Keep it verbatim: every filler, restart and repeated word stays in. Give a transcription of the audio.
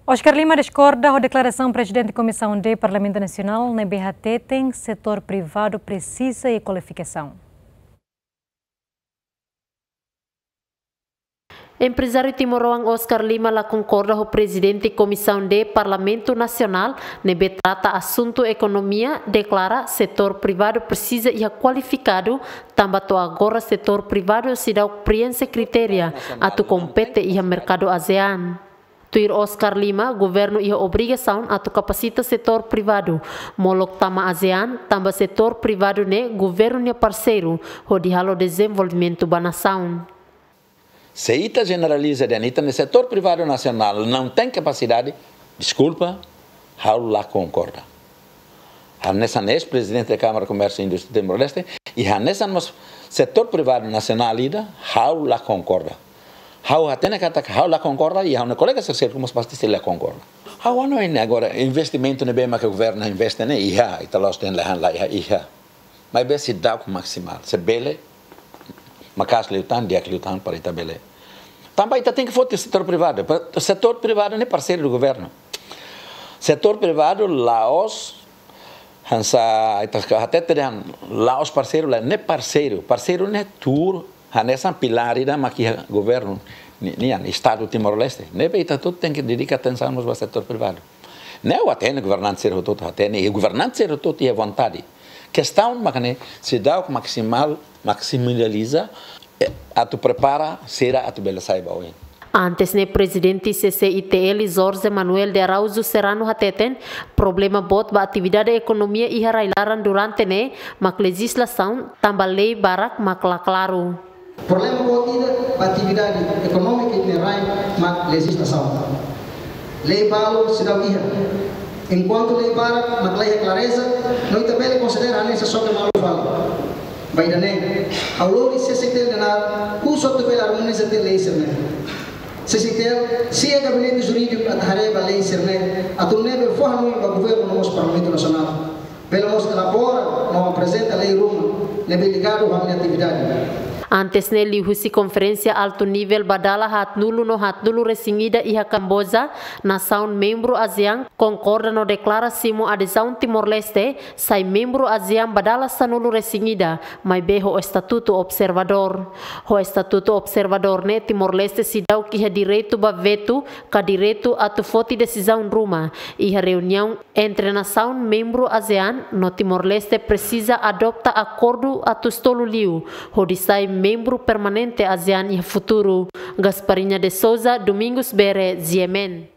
Oscar Lima diskorda ho deklarasaun Prezidente Komisaun D Parlamentu Nasionál ne'ebé hateten setór privadu presiza iha kualifikasaun. Emprezáriu timoroan Oscar Lima la konkorda ho Prezidente Komisaun D Parlamentu Nasionál ne'ebé trata asuntu ekonomia deklara setór privadu presiza iha kualifikadu, tanba to'o agora setór privadu seidauk prienxe kritéria atu kompete iha merkadu ASEAN. Tuir Oscar Lima, governu iha obrigasaun atu kapasita setór privadu molok tama ASEAN, tanba setór privadu ne'e governu nia parseiru hodi halo dezenvolvimentu ba nasaun. Se ita jeneraliza dehan ita-nia setór privadu nasionál não tem capacidade, deskulpa, ha'u la konkorda. Hanesan eis-prezidente da Câmara de Comércio e Indústria de Timor-Leste, i hanesan mós setór privadu nasionál ida, ha'u la konkorda. Ha'u hatene katak ha'u la konkorda, i ha'u-nia kolega sira seluk mós pasti sira la konkorda. Ha'u hanoin agora investimentu ne'ebé maka governu investe ne'e iha, ita la'ós dehan la iha, iha. Maibé seidauk maksimal, se bele, maka'as liután, di'ak liután para ita bele. Tanba ita tenke foti setór privadu, pa-, setór privadu ne'e parseiru do governu. Setór privadu la'ós, hanesan, ita hatete dehan la'ós parseiru, lae, ne'e parseiru, parseiru ne'e tuur, hanesan pilár ida mak iha governu ni-, nian, Estadu Timor-Leste. Ne'ebé ita hotu tenke dedika atensaun mós ba setór privadu. Ne'e ha'u hatene governante sira hotu, hatene, i governante sira hotu iha vontade. Kestaun mak ne'e seidauk maksimal, maksimaliza, eh, atu prepara sira atu bele sai ba oin. Antes ne'e Prezidente C C I T L Jorge Manuel de Araújo Serrano hateten, problema boot ba atividade ekonomia iha rai-laran durante ne'e mak lejizlasaun, tanba lei barak mak la klaru. Problema boot ida ba atividade ekonómika iha rai mak lejizlasaun. Lei balu seidauk iha. Enkuantu lei barak mak la iha klareza, no ita bele konsidera hanesan soke malu fali. Ba ida-ne'e, ha'u lori C C I T L dehan, husu atu bele armoniza tiha lei sira-ne'e. C C I T L simu gabinete jurídiku atu haree ba lei sira-ne'e, atu nune'e bele fó hanoin ba governu no mós Parlamentu Nasionál. Bele mós elabora no aprezenta lei ruma ne'ebé ligadu ho ami-nia atividade. Antes ne'e liuhusi konferénsia altu nivel ba dala haatnulu no haatnulu resin ida iha Kamboja, nasaun membru ASEAN konkorda no deklara simu adezaun Timor-Leste sai membru ASEAN ba dala sanulu resin ida, maibé ho estatutu observadór. Ho estatutu observadór ne'e Timor-Leste seidauk iha direitu ba vetu ka direitu atu foti desizaun ruma iha reuniaun entre nasaun membru ASEAN no Timor-Leste presiza adopta akordu atus tolu liu hodi sai membru permanente ASEAN iha futuru. Gasparinha de Souza, Domingos Bere, G M N.